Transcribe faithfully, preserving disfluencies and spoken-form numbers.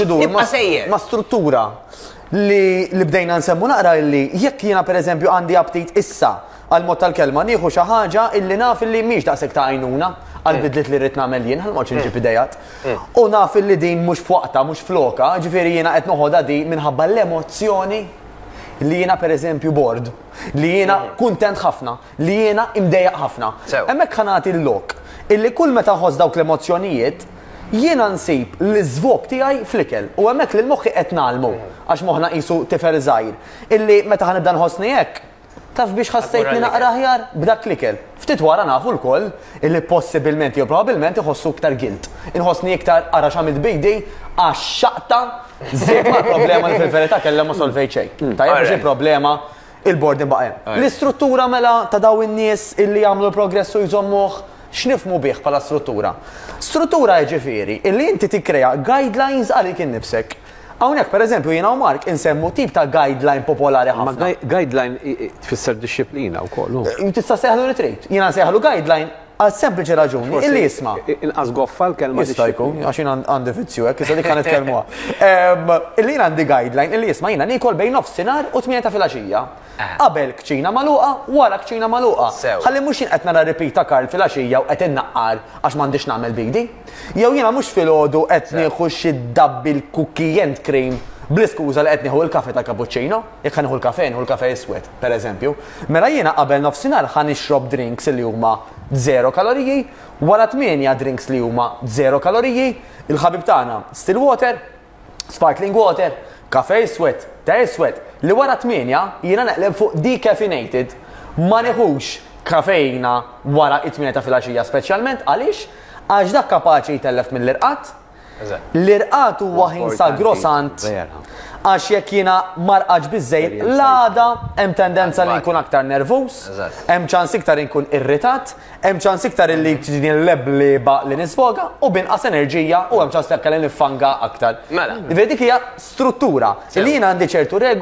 Idur Nibqa' ma- sejjer. Ma struttura li, li bdejna nsemmu naqra illi jekk jiena, per eżempju, għandi aptit issa, għal mod tal-kelma, nieħu xi ħaġa illi naf illi mhix daqshekk ta' għajnuna għal bidliet li rrid nagħmel jien, ħa noqgħodx inġib idejat. U naf illi din mhux f'waqta, mhux floka, ġifieri jiena qed noħodha di minħabba l-emozzjoni li jiena, per eżempju, bored, li jiena kuntent ħafna, li jiena imdejjaq ħafna. Sew. Hemmhekk ħa nagħti l-lok illi kull meta nħoss dawk l-emozzjonijiet, jiena nsib l-iżvog tiegħi fl-ikel u hemmhekk li l-moħħi qed ngħallmu, għax moħħna qisu tifel żgħir, illi meta ħa nibda nħossni hekk, taf biex ħassejtni l-ikel. naqra aħjar b'dak l-ikel. Ftit wara nafu lkoll illi possibilment jew probabbilment iħossu iktar guilt. Inħossni iktar ara x'għamilt bidi għax xaqta żied ma' problema li fil-verità kellha ma solvejt xejn. Tajjeb, għax Alright. il-problema il-boredom baqa' hemm. L-istruttura mela ta' daw in-nies illi jagħmlu l-progress u jżommuh, x'nifhmu bih bħala struttura? Struttura jiġifieri illi inti tikkrea guidelines għalik innifsek. Hawnhekk, pereżempju, jiena u Mark insemmu tip ta' guideline popolari Ma ħafna. gui- guideline i- i- tfisser disċiplina wkoll. hu. Tista' sejħlu li trid. Jiena sejħlu guideline għal sempliċi raġuni Forsi illi jisma'. Inqas goffa l-kelma Jista' jkun, dixxiplina. għax jien għandi vizzju hekk, issa dik ħa nitkellmuha. Em, Illi jien għandi guideline illi jisma' jiena niekol bejn nofsinhar u tmienja ta' filgħaxija. Qabel kċina magħluqa, wara kċina magħluqa. Sew. Ħalli mhux jien qed nara repeat ta' Karl filgħaxija u qed innaqqar għax m'għandix nagħmel bidi. Jew jiena mhux filgħodu qed nieħu xi double cookie and cream bl-iskuża li qed nieħu l-kafe ta' cappuccino, jekk ħa nieħu l-kafe, nieħu l-kafe iswed, per eżempju. Mela jiena qabel nofsinhar ħa nixrob drinks li huma zero kaloriji, wara tmienja drinks li huma zero kaloriji, il-ħabib tagħna still water, sparkling water, kafe iswed, te iswed, li wara tmienja jiena neqleb fuq decaffeinated, ma nieħux kafeina wara it-tmienja ta' filgħaxija speċjalment. Għaliex? Għax dak kapaċi jtellef mill-irqad. Eżatt. L-irqad huwa ħin Importanti, sagrosant vera. għax jekk jiena ma rqadx biżejjed, Esperjenza. l-għada hemm tendenza li Eżatt. nkun aktar nervus, Eżatt. hemm ċans iktar inkun irritat, hemm ċans iktar illi tiġini l-lebliba li nisfoga u binqas enerġija u hemm ċans li niffanga aktar. Mela. Vedi, dik hija struttura li jiena għandi ċertu regoli.